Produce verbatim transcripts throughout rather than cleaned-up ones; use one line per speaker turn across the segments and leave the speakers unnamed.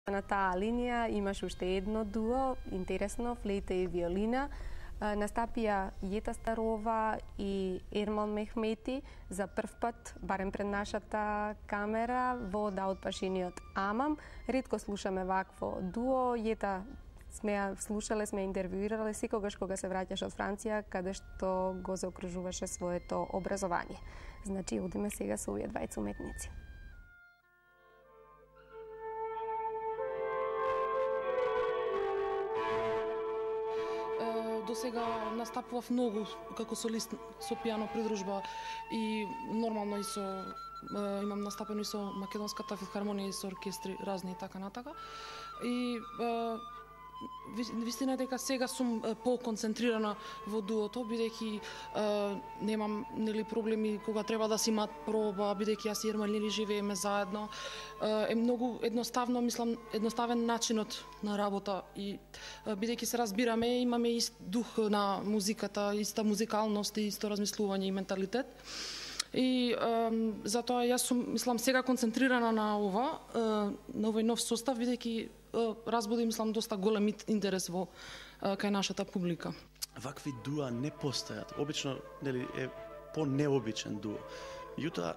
На таа линија имаш уште едно дуо, интересно, флейта и виолина. Настапија Јета Старова и Ермал Мехмети за прв пат, барем пред нашата камера, во Да од пашиниот Амам. Ретко слушаме вакво дуо. Јета сме ја слушале, сме интервјуирале секогаш кога се враќаш од Франција, каде што го заокружуваше своето образование. Значи, одиме сега со овие двајца уметници.
До сега настапував многу како солист со пијано придружба и нормално и со имам настапено и со Македонската филхармонија и со оркестри разни и така натака. И вистина е дека сега сум по-концентрирана во дуото, бидејќи немам нели проблеми кога треба да си имаат проба, бидејќи јас и Ермал нели живееме заедно. Е многу едноставно, мислам, едноставен начинот на работа и бидејќи се разбираме, имаме ист дух на музиката, иста музикалност и исто размислување и менталитет. И е, затоа јас сум, мислам, сега концентрирана на ова, е, на овој нов состав, бидејќи разбуди, мислам, доста голем интерес во е, кај нашата публика.
Вакви дуа не постојат. Обично, нели, е по-необичен дуо. Меѓутоа,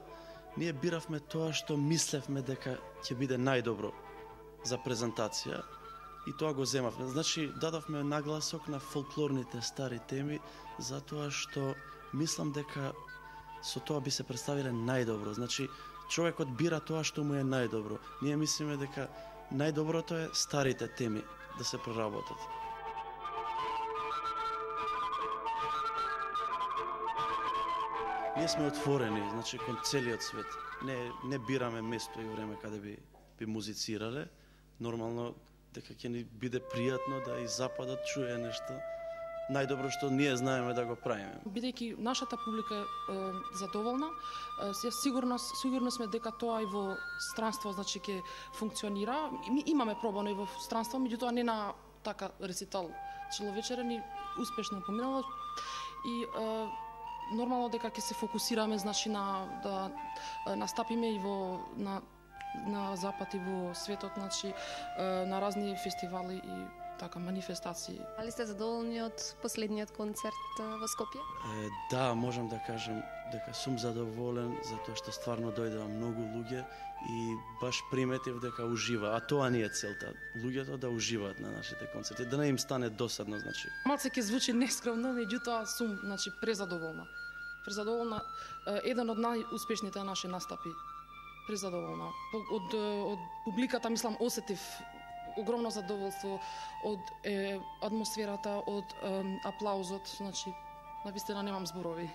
ние биравме тоа што мислевме дека ќе биде најдобро за презентација и тоа го земавме. Значи, дадовме нагласок на фолклорните стари теми, затоа што мислам дека со тоа би се представиле најдобро. Значи, човекот бира тоа што му е најдобро. Ние мислиме дека најдоброто е старите теми да се проработат. Ние сме отворени, значи, кон целиот свет. Не, не бираме место и време каде би, би музицирале. Нормално, дека ќе ни биде пријатно да и Западот чуе нешто најдобро што ние знаеме да го правиме.
Бидејќи нашата публика е задоволна, е, сигурно, сигурно сме дека тоа и во странство, значи, ќе функционира. Ми имаме пробано и во странство, меѓутоа не на така рецитал целовечерен и успешно поминало. И е, нормално дека ќе се фокусираме, значи, на да настапиме и во на на Запад и во светот, значи, на разни фестивали и така манифестации.
Дали сте задоволни од последниот концерт во Скопје?
Е, да, можам да кажам дека сум задоволен затоа што стварно дојдоа многу луѓе и баш приметив дека ужива, а тоа не е целта. Луѓето да уживаат на нашите концерти, да не им стане досадно, значи.
Малце ќе звучи нескромно, меѓутоа сум, значи, презадоволна. Презадоволна, еден од најуспешните наши настапи. Презадоволна. Од, од публиката, мислам, осетив огромно задоволство од е, атмосферата, од е, аплаузот, значи, навистина немам зборови.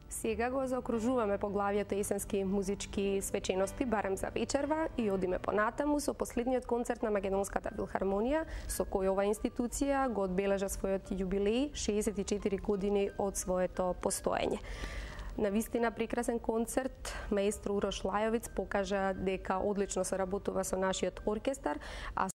Сега го заокружуваме поглавието есенски музички свечености, барем за вечерва, и одиме понатаму со последниот концерт на Македонската филхармонија, со кој ова институција го одбележа својот јубилеј, шеесет и четири години од своето постоење. На вистина прекрасен концерт, маестро Урош Лајовиц покажа дека одлично се работува со нашиот оркестар, а